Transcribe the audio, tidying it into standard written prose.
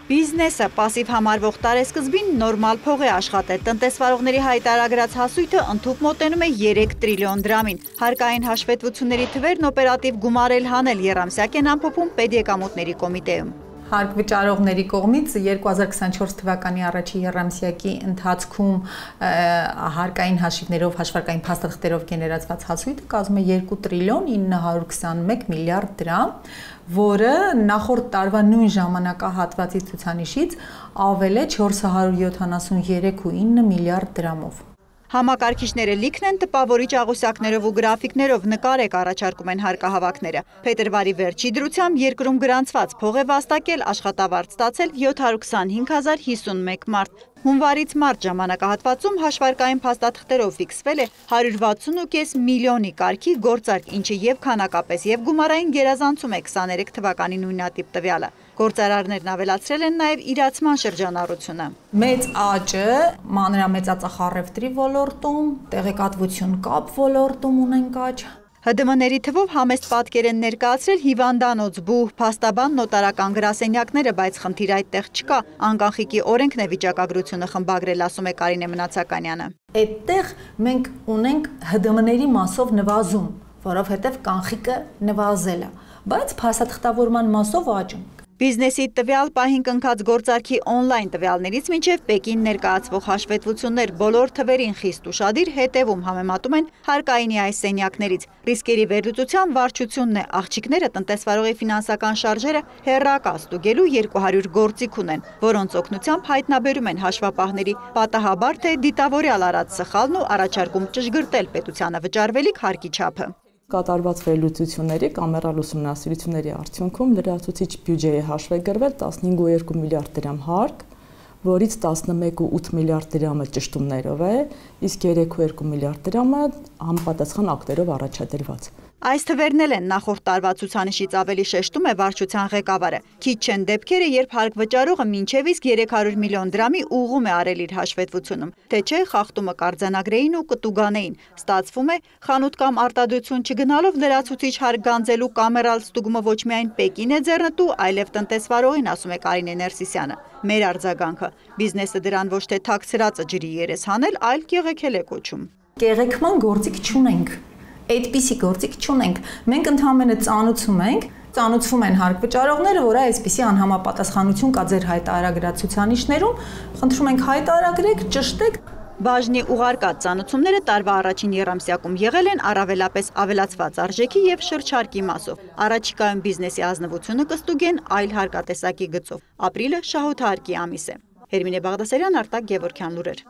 Բիզնեսը պասիվ համարվող տարեսկզբին նորմալ փող է աշխատել, տնտեսվարողների հայտարարած հասույթը ընդհուպ մոտենում է 3 տրիլիոն դրամին, հարկային հաշվետվությունների թվերն օպերատիվ գումարել հանել եռամսյակ են ամփոփում պետեկամուտների կոմիտեում։ Հարկ վճարողների կողմից 2024 թվականի առաջի եռամսյակի ընթացքում հարկային հաշիվներով, հաշվարկային փաստաթղթերով գեներացված հասույթը կազմում է 2 տրիլիոն 921 միլիարդ դրամ, որը նախորդ տարվա նույն ժամանակահատվածի ցուցանիշից ավել է 473.9 միլիարդ դրամով։ Համակարգիչները լիքն են, տպավորիչ աղյուսակներով ու գրաֆիկներով նկարեք առաջարկում են հարկահավաքները։ Փետրվարի վերջի դրությամբ երկրում գրանցված փող է վաստակել աշխատավարձ ստացել 725,051 մարդ։ Հունվարից մարտ ժամանակահատվածում հաշվարկային փաստաթղթերով ֆիքսվել է 160.5 միլիոնի կարգի գործարք, ինչը եւ քանակապես եւ գումարային գերազանցում է 23 թվականի նույնատիպ տվյալը։ Գործարարներն ավելացրել են նաև իրացման շրջանառությունը։ Մեծ աճը մանրամեծածախարևտրի ոլորտում, տեղեկատվություն կապ ոլորտում ունենք աճ։ ՀԴՄ-ների թվով համեստ պատկեր են ներկայացրել հիվանդանոց, բուհ, փաստաբան, նոտարական գրասենյակները, բայց խնդիր այդտեղ չկա։ Անկանխիկի օրենքն է վիճակագրությունը խմբագրել, ասում է Կարինե Մնացականյանը։ Այդտեղ մենք ունենք ՀԴՄ-ների մասով նվազում, որովհետև կանխիկը նվազել է, բայց փաստաթղթավորման մասով աճում։ Բիզնեսի տվյալ պահին կնքած գործարքի օնլայն տվյալներից մինչև Պեկին ներկայացվող հաշվետվություններ բոլոր թվերին խիստ ուշադիր հետևում համեմատում են հարկայինի այս սենյակներից։ Ռիսկերի վերլուծության վարչությունն է, աղջիկները տնտեսվարողի ֆինանսական շարժերը հեռակա ստուգելու 200 գործիք ունեն, որոնց օգնությամբ հայտնաբերում են հաշվապահների պատահաբար թե դիտավորյալ արած սխալն ու առաջարկում ճշգրտել պետությանը վճարվելիք հարկի չափը։ Կատարված վերլուծությունների կամերալ ուսումնասիրությունների արդյունքում լրացուցիչ բյուջեի հաշվեկրվել 15.2 միլիարդ դրամ հարկ, որից 11.8 միլիարդ դրամը ճշտումներով է, իսկ 3.2 միլիարդ դրամը համապատասխան ակտերով առաջադրված։ Այս թվերն էլ են նախորդ տարվա ցուցանիշից ավելի շեշտում է վարչության ղեկավարը։ Քիչ չեն դեպքերը, երբ հարկ վճարողը մինչև իսկ 300 միլիոն դրամի ուղղում է արել իր հաշվետվությունում, թե չէ խախտումը կարձանագրեին ու կտուգանեին։ Ստացվում է, խանութ կամ արտադրություն չգնալով լրացուցիչ հարկ գանձելու կամերալ ստուգումը ոչ միայն Պեկին է ձեռնտու, այլև տնտեսվարողին, ասում է Կարինե Ներսիսյանը։ Մեր արձագանքը՝ բիզնեսը դրան ոչ թե թաքցրածը ջրի երես հանել, այլ կեղեքել է կոչում։ Կեղեքման գործիք չունենք։ Այդպիսի գործիք չունենք։ Մենք ընդհանրապես ծանուցվում են հարկ վճարողները, որ այսպիսի անհամապատասխանություն կա ձեր հայտարարած ցուցանիշներում, խնդրում ենք հայտարարեք, ճշտեք։ Բաժնի ուղարկած ծանուցումները տարվա առաջին եռամսյակում եղել են առավելապես ավելացված արժեքի եւ շրջարկի մասով։ Առաջիկայում բիզնեսի ազնվությունը կստուգեն այլ հարկատեսակի գծով։ Ապրիլը շահութահարկի ամիս է։ Հերմինե Բաղդասարյան, Արտակ Գևորգյան լուրեր։